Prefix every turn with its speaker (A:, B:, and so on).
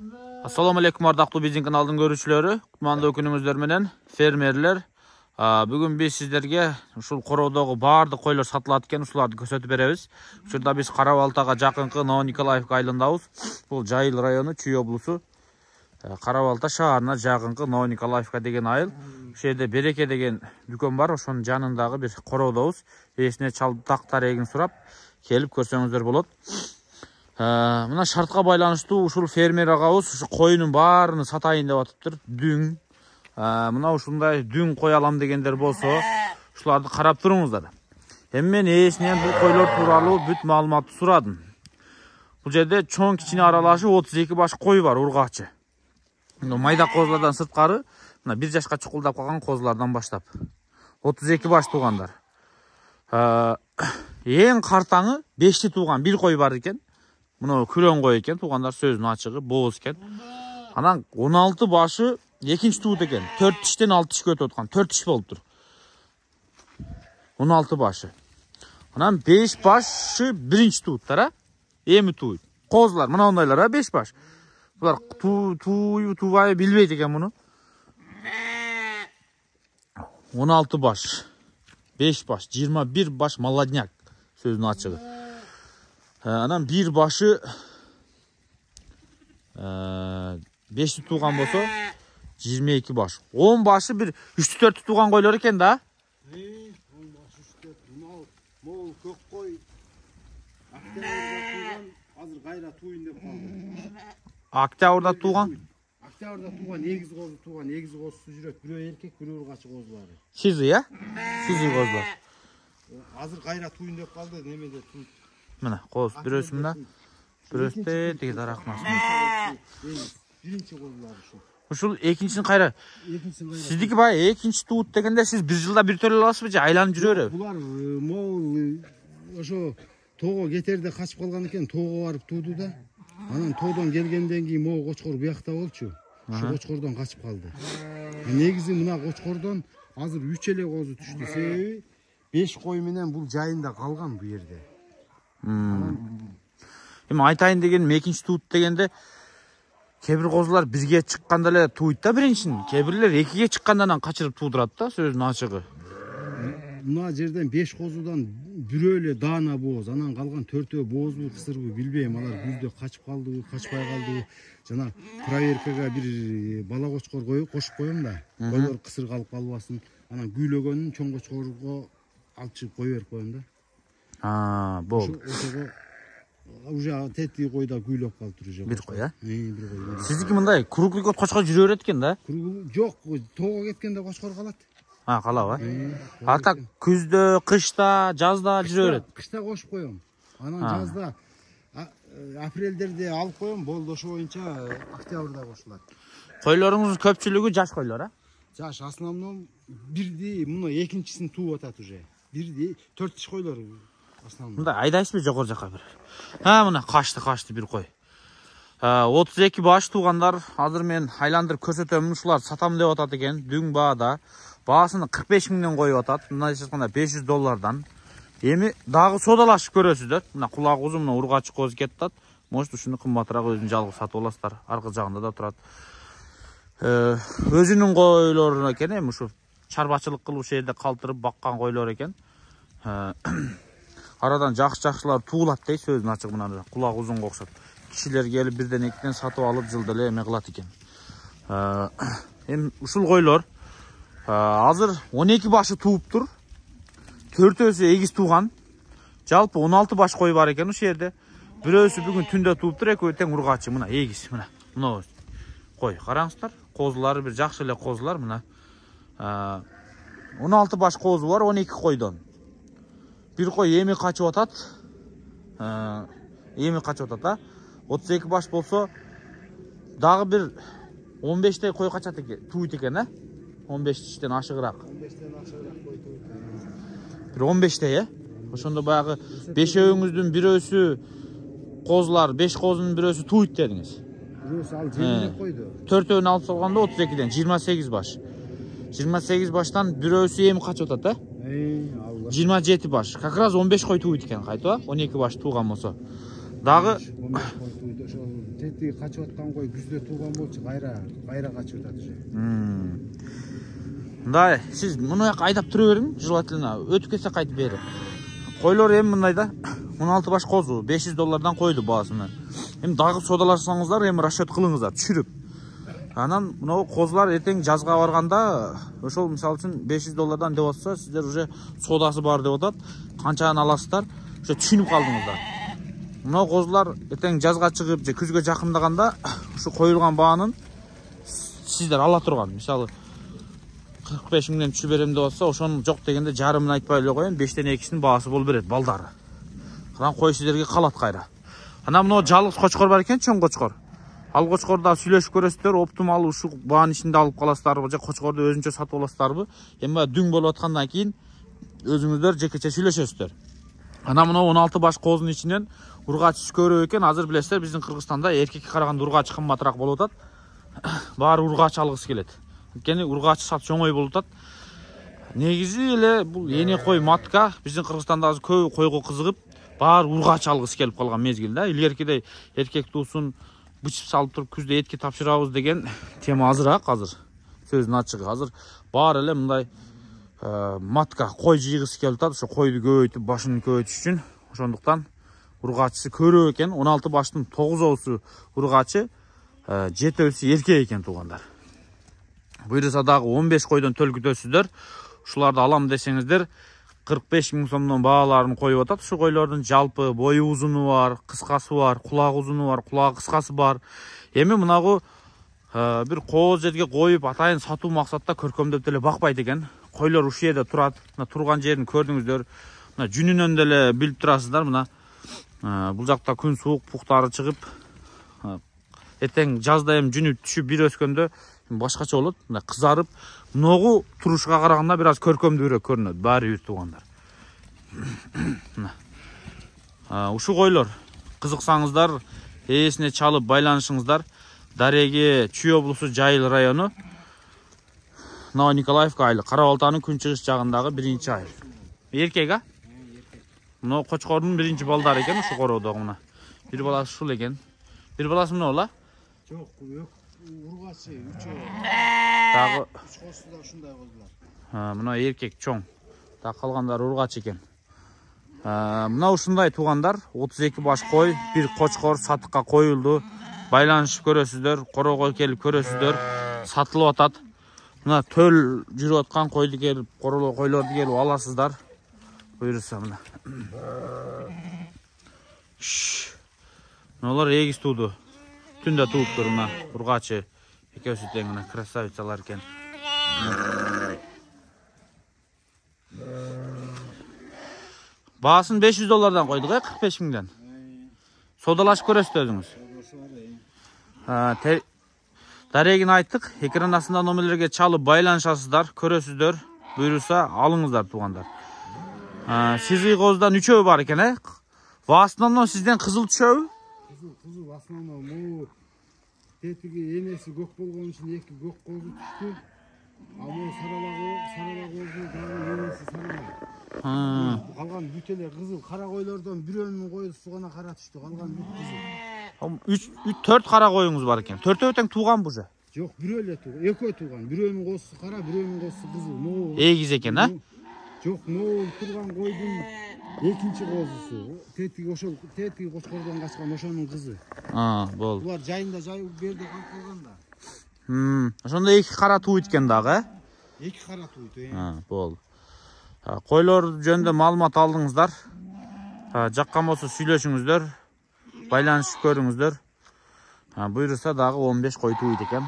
A: Assalamu alaikum ардактуу биздин каналдын көрүүчүлөрү. Кутмандуу күнүңүздөр менен фермерлер. Бүгүн биз сиздерге ушул короодогу баардык койлор сатылат экен, ушуларды көрсөтүп беребиз. Учурда биз Кара Балтага жакынкы Новониколаевка айылындабыз. Бул Жайыл району, Чүй облусу. Кара Балта шаарына жакынкы Новониколаевка деген айыл. Ошол жерде Береке деген дүкөн бар, ошонун жанындагы бир короодобуз. Эсине чалдак тарегин сурап келип көрсөңүздөр болот. Мына шартка байланыштуу ушул фермер агабыз ушу койунун баарын сатайын деп атыптыр. Дүң. Мына ушундай дүң кой алам дегендер болсо, ушуларды карап туруңуздар. Эми мен ээсинен бул койлор тууралуу бүт маалыматты сурадым. Бул жерде чоң кичине аралашып 32 баш кой бар, ургачы. Майда козулардан сырткары, мына 1 жашка чукулдап калган козулардан баштап 32 баш туугандар. Эң картаңы 5ти тууган бир кой бар экен. Мына күрөң кой экен, туугандар сөзүнүн ачыгы, бооз экен. Анан 16 башы экинчи туут экен. 4 тиштен 6 тишке өтүп аткан. 4 тиш болуптур. 16 башы. Анан 5 башы биринчи тууттар, эми тууйт. Козулар мына ондайлар, 5 баш. Булар туубай билбейт экен муну. 16 баш. 5 баш, 21 баш молодняк сөзүнүн ачыгы. Анан 1 башы 5 тууган болсо 22 баш. 10 башы бир 3-4 тууган койлор экен да.
B: 10 баш 3-4. Мол көк кой. Октябрда тууган, азыр кайра туйун деп калды.
A: Октябрда тууган?
B: Октябрда тууган, эгиз козу тууган, эгиз козусу жүрөт. Бирөө эркек, бирөө ургачы козулары.
A: Сизи, Сизи козулар.
B: Азыр кайра туйун деп калды, немеде туйт.
A: Мына коз бирөөсү мына. Бирөөсү тиги дарактын астында.
B: Биринчи козулар ушу.
A: Ушул экинчисин кайра. Сиздики бай экинчи туут дегенде сиз бир жылда бир төрөлө аласызбы же айланып жүрө береби?
B: Булар мол ошо тоого кетерде качып калган экен, тоого барып тууду да. Анан тоодон келгенден кийин могу кочкор буякта болчу. Ошо кочкордон качып калды. Негизи мына кочкордон азыр 3 эле козу түштү. Себеби 5 кой менен бул жайында калган бу жерде.
A: Эми айтайын дегеним экинчи туут дегенде кээ бир козулар бирге чыкканда эле туйт да биринчисин. Кээ бирлер экиге чыккандан анан качырып туудурат да, сөзүнүн ачыгы.
B: Мына жерден 5 козудан бирөө эле даана бооз, анан калган 4өө боозбу, кысырбы билбейм. Алар күздө качып калдыбы, качпай калдыбы. Жана проверкага бир бала кочкор кошуп коем да. Койлор кысыр калып калбасын. Анан күйлөгөнүн чоң кочкорго алып чыгып кое берип коем да.
A: Болду.
B: Уже тети койда күйлөп калыптыр уже.
A: Бир кой,
B: бир кой.
A: Сиздики мындай круглый кот кочкор жүрө берет экен да?
B: Жок, тоого кеткенде кочкор калат.
A: Калабы? А так күздө, кышта, жазда жүрө берет.
B: Кышта кошуп коем. Анан жазда апрелдерде алып коем, болду ошо боюнча октябрда кошулат.
A: Койлоруңуздун көпчүлүгү жаш койлор,
B: Жаш, основном бирди, муну экинчисин тууп атат уже. Бирди 4 тиш койлор основном.
A: Мындай айдайсызбы жогору жака бир? Мына качты бир кой. 32 баш туугандар, азыр мен айландырып көрсөтөм, ушуларды сатам деп атат экен, дүң баада. Баасын 45 миңден коюп атат. Мындайча айтканда $500. Эми дагы содалашып көрөсүздөр. Мына кулак узун, мына ургачы коз кетат. Может ушуну кымбатыраак өзүн жалгыз сатып аласыздар. Аркы жагында да турат. Өзүнүн койлору экен, эми ушу чарбачылык кылып ушул жерде калтырып баккан койлор экен. Арадан жакшы-жакшылар туулат дей, сөзүн ачык мына кулак узунга окшоп. Кишилер келип бирден экиден сатып алып жылда эле эме кылат экен. Эми ушул койлор азыр 12 башы тууптур. 4өөсү эгиз тууган. Жалпы 16 баш кой бар экен ушул жерде. Бирөөсү бүгүн түндө тууптур, экөө тең ургачы, мына эгиз, мына кой. Караңыздар, козулары бир жакшы эле козулар мына. 16 баш козу бар 12 койдон. Бир кой эми качып атат. 32 баш болсо дагы бир 15 кой качат экен, туйт экен, 15 тиштен ашыгыраак.
B: 15тен ашыгыраак кой туйт.
A: Бир 15 Ошондо баягы 5өөңүздүн бирөөсү козулар, 5 козунун бирөөсү туйт дедиңиз.
B: Бирөөсү ал жемилеп койду.
A: 4өөнү алып салганда 32ден 28 баш. 28 баштан бирөөсү эми качып атат, 27 баш. Как раз 15 кой туйт экен кайтып, 12 баш тууган болсо. Дагы
B: 15 кой тууйду. Ошо тетиги качып аткан кой күздө тууган болчу, кайра качып атат уже.
A: Мындай, сиз муну жака айдап тура бериң, желательно өтүп кетсе кайтып бери. Койлор эми мындай да, 16 баш козу, $500 койду баасына. Эми дагы содалашсаңыздар, эми расчет кылыңыздар, түшүрүп. Анан мына козулар эртең жазга барганда, ошол мисалы үчүн $500 деп атса, сиздер уже содасы бар деп атат. Канчаны аласыздар, ошо түшүнүп калдыңыздар. Мына козулар эртең жазга чыгып, же күзгө жакындаганда, ушу коюлган баанын сиздер ала турган. Мисалы 45 миңден түшүп берем деп атса, ошону жок дегенде жарымын айтпай эле коеюн, 5тен 2синин баасы болуп берет балдары. Анан кой сиздерге калат кайра. Анан мына жалгыз кочкор бар экен, чоң кочкор. Ал кочкорду сүйлөшүп көрөсүздөр, оптимал ушул баанын ичинде алып каласыздарбы, же кочкорду өзүнчө сатып аласыздарбы? Эми дүң болуп аткандан кийин өзүңүздөр жекече сүйлөшөсүздөр. Анан мына 16 баш козунун ичинен ургачысы көрөк экен. Азыр билесиздер, биздин Кыргызстанда эркекке караганда ургач кымбатыраак болуп атат. Баары ургач алгысы келет. Анткени ургач сатыш оңой болуп атат. Негизи эле бул эне кой матка биздин Кыргызстанда азыр көп койго кызыгып, баары ургач алгысы келип калган мезгил да. Илгеркидей эркек туусун бычып салып туруп күздө этке тапшырабыз деген тема азыраак азыр. Сөздүн ачыгы азыр баары эле мындай матка кой жыйгысы келип атат. Ошо койду көбөйтүп, башын көбөйтүш үчүн. Ошондуктан ургачысы көрөк экен. 16 баштын 9-оосу ургачы, 7-өсү эркек экен туугандар. Буйруса дагы 15 койдон төл күтөсүздөр. Ушуларды алам десеңиздер 45 миң сомдон бааларын коюп атат. Ушу койлордун жалпы бою узуну бар, кыскасы бар, кулагы узуну бар, кулагы кыскасы бар. Эми мынагу бир кооз жерге коюп атайын сатуу максатта көркөмдөп деле бакпайт экен. Койлор ушул жерде турат. Мына турган жерин көрдүңүздөр. Мына жүнүнөн деле билип турасыздар. Мына бул жакта күн суук, пуктары чыгып, эртең жазда эми жүнү түшүп бир өскөндө башкача болот. Мына кызарып, ногу турушка караганда бир аз көркөмдүүрөөк көрүнөт баары бир туугандар. Ушу койлор кызыксаңыздар, ээсине чалып байланышыңыздар. Дареги Чүй облусу Жайыл району, Ноо Николаевка айылы, Кара Балтанын күнчыгыш жагындагы 1-айыл. Эркек, а? Мына кочкордун 1 балдары экен ушу короодогу мына. Бир баласы ушул экен. Бир баласы мына ола?
B: Жок, ургачы, үчөө.
A: Дагы
B: 3 козу да ушундай козулар.
A: Мына эркек чоң. Дагы калгандары ургач экен. Мына ушундай туугандар, 32 баш кой, бир кочкор сатыкка коюлду. Байланышып көрөсүздөр, корого келип көрөсүздөр, сатылып атат. Мына төл жүрүп аткан койду келип, койлорду келип аласыздар. Буйруса мына. Мыналар эгиз тууду. Түндө тууптур мына ургачы. Экөөсү тең мына красавицалар экен. Баасын $500 койдук, 45 миңден. Содалашып көрөсүздөр өзүңүз. Дарегин айттык, экран астында номерлерге чалып байланышасыздар, көрөсүздөр, буйруса алыңыздар туугандар. Сизги козудан 3-өө бар экен, В основном сизден кызыл түшөбү?
B: Кызыл в основном могу тетиги энеси көк болгон үчүн 2 көк козу түштү. А могу сарала козу дагы энеси сарала. Калган бүт эле кызыл. Кара койлордон бирөөнүн коюсу гана кара түштү, калган бүт кызыл. 4 кара коюңуз бар экен. 4-өө тең тууган бужа? Жок, бирөө эле тууган. Экөө тууган. Бирөөнүн козусу кара, бирөөнүн козусу кызыл.
A: Эгиз экен, а?
B: Жок, могу турган койдун экинчи козусу. Тетиги кочкордон качкан ошонун кызы.
A: Болду.
B: Булар жайында жайып берди калып калганда.
A: Ошондо 2 кара тууйт экен дагы,
B: 2 кара тууйт,
A: болду. Койлор жөнүндө маалымат алдыңыздар. Жаккан болсо сүйлөшүңүздөр, байланышып көрүңүздөр. Буйруса дагы 15 кой тууйт экен.